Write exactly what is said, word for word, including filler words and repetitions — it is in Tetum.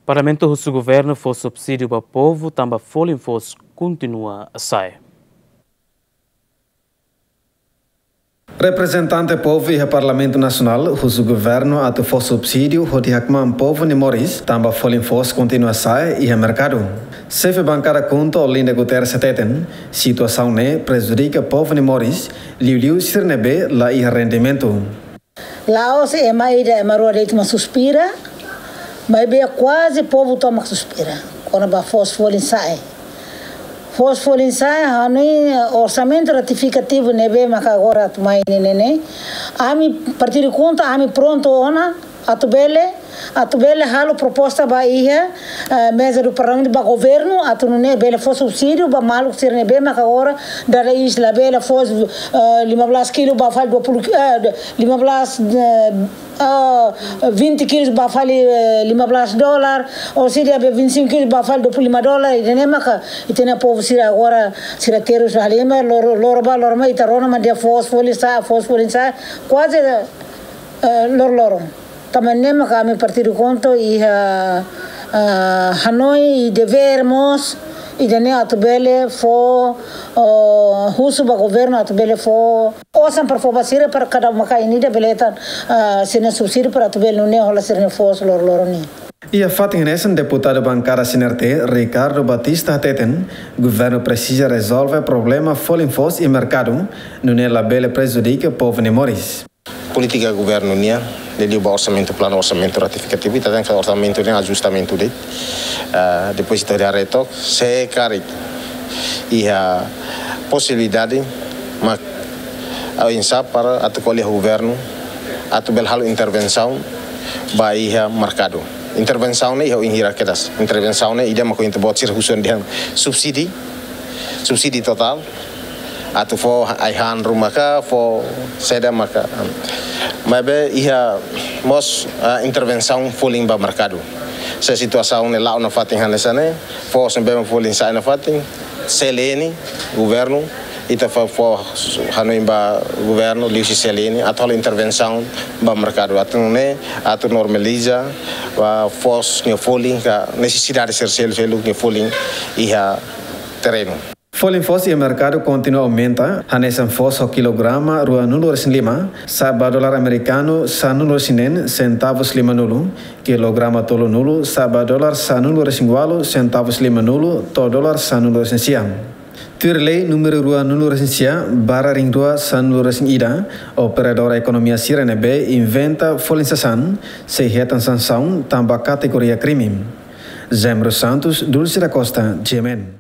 Parlamentu husu governu fó subsídiu ba povu tanba folin foos kontinua sa'e. Reprezentante povu iha Parlamentu Nasionál husu governu atu fó subsídiu hodi hakmaan povu nia moris tanba folin foos kontinua sa'e iha merkadu. Xefe bankada KHUNTO Olinda Guterres hateten, situasaun ne'e prejudika povu nia moris, liuliu sira ne'ebé la iha rendimentu. La'ós ema ida, ema rua de'it mak suspira, maibé kuaze povu tomak suspira kona-ba foos folin sa'e. Foos folin sa'e, hanoin orsamentu retifikativu ne'ebé maka agora atu mai ne'e ne'e. Ami, Partidu KHUNTO, ami prontu ona atu bele, atu bele halo proposta ba iha, eh, meza do Parlamentu ba governu, atu nune'e bele fó subsídiu ba maluk sira ne'ebé maka agora dada iis labele fó, eh, lima belas kilo ba fali dua puluh ki-, eh, lima belas, eh, ah, vinte kilos ba fali, eh, lima belas dolar, ou se dia vinte e cinco kilos ba fali dua puluh lima dolar, ida-ne'e maka, ita-nia povu sira agora, sira terus halimar, loro, loro ba, loro mai, ita rona mak dehan foos folin sa'e, foos folin sa'e, kuaze, eh, loro-loron. Tanba ne'e maka ami Partidu KHUNTO iha, ah, hanoin i devér mós, ida-ne'e atu bele fó, oh, husu ba governu atu bele fó osan para fó ba sira para kada uma-kain ida bele hetan, ah, sira-nia subsídiu para atu bele nune'e hola sira-nia foos loro-loron nian. Iha fatin hanesan, deputadu bankada CNRT, Ricardo Batista hateten, governu presiza rezolve problema folin foos iha merkadu, nune'e labele prejudika povu nia moris. Polítika governu nian, liuliu ba orsamentu, planu orsamentu retifikativu, ita tenke orsamentu nian ajustamentu de'it. Ah, depois ita haree took, se karik iha posibilidade, mak oinsá para atu ko'alia ho governu atu bele halo intervensaun ba iha merkadu. Intervensaun ne'e iha oin hira kedas. Intervensaun ne'e ida mak ohin ita-boot sira husu dehan subsídiu, subsídiu totál, atu fó ai-han ruma ka, fó saida maka. Maibé iha mós, ah, intervensaun folin ba merkadu. Se situasaun ne'e la'o nafatin hanesan ne'e, foos ne'ebé mak folin sa'e nafatin, C L N, governu, ita fó, fó hanoin ba governu liuhusi C L N atu halo intervensaun ba merkadu atu nune'e atu normaliza ba foos nia folin ka nesesidade sira seluk-seluk nia folin iha terrenu. Folin foos iha merkadu kontinua aumenta, hanesan foos ho kilograma ruanulu-resin-lima, sa'e ba dolar amerikanu sanulu-resin-neen, sentavus limanulu, kilograma tolunulu, sa'e ba dolar sanulu-resin-ualu, sentavus limanulu, to'o dolar sanulu-resin-sia. Tuir lei númeru ruanulu-resin-sia barra ringrua sanulu-resin-ida, operadór ekonomia sira ne'ebé inventa folin sasán sei hetan sansaun tanba kategoria krime. Zemro Santos, Dulce da Costa, G M N.